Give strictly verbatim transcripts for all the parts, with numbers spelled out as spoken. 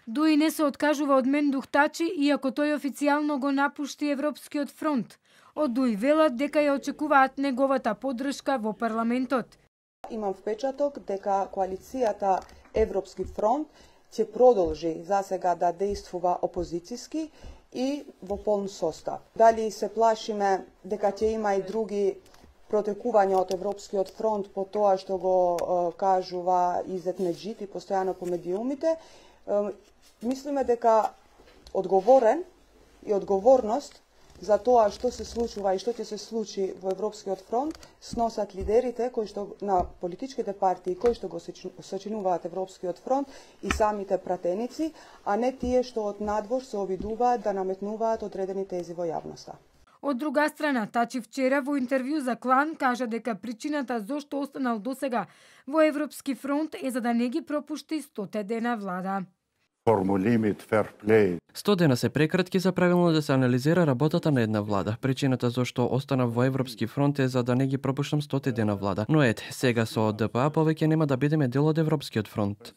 Дуи не се откажува од Мендух Тачи, иако тој официјално го напушти Европскиот фронт. Од Дуи велат дека ја очекуваат неговата поддршка во парламентот. Имам впечаток дека коалицијата Европски фронт ќе продолжи засега да действува опозицијски и во полн состав. Дали се плашиме дека ќе има и други протекувања од Европскиот фронт по тоа што го е, кажува Изет Меджити постојано по медиумите, е, мислиме дека одговорен и одговорност за тоа што се случува и што ќе се случи во Европскиот фронт сносат лидерите кои што на политичките партии кои што го сочинуваат Европскиот фронт и самите пратеници, а не тие што од надвор се обидуваат да наметнуваат одредени тези во јавноста. Од друга страна, Тачи вчера во интервју за Клан кажа дека причината зошто останал досега во Европски фронт е за да не ги пропушти стоте дена влада. сто дена се прекратки за правилно да се анализира работата на една влада. Причината зашто останав во Европски фронт е за да не ги пропуштам стоте дена влада. Но ете, сега со ДПА повеќе нема да бидеме дел од Европскиот фронт.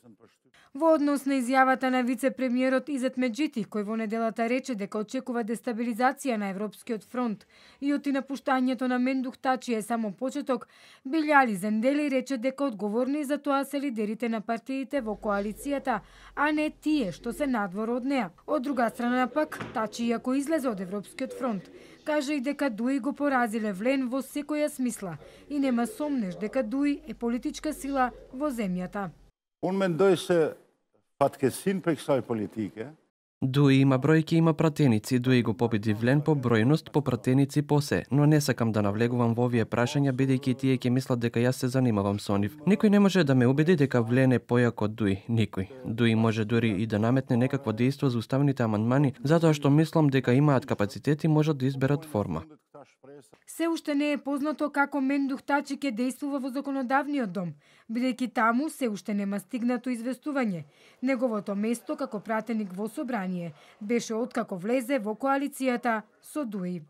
Во однос на изјавата на вице-премиерот Изет Меджити, кој во неделата рече дека очекува дестабилизација на Европскиот фронт и оти напуштањето на Мендух Тачи е само почеток, Билјали Зендели рече дека одговорни за тоа се лидерите на партиите во коалицијата, а не тие што се надвор од неа. Од друга страна пак, Тачи, иако излезе од Европскиот фронт, кажа и дека Дуи го поразиле Влен во секоја смисла и нема сомнеш дека Дуи е политичка сила во земјата. Дуи има бројки, има пратеници, Дуи го победи Влен по бројност, по пратеници, по се, но не сакам да навлегувам во овие прашања, бидејќи тие ќе мислат дека јас се занимавам со нив. Никој не може да ме убеди дека Влен е појак од Дуи, никој. Дуи може дури и да наметне некакво дејство за уставните амандмани, затоа што мислам дека имаат капацитет и можат да изберат форма. Се уште не е познато како Мендух Тачи ќе действува во законодавниот дом, бидејќи таму се уште нема стигнато известување. Неговото место како пратеник во собрание беше откако влезе во коалицијата со Дуи.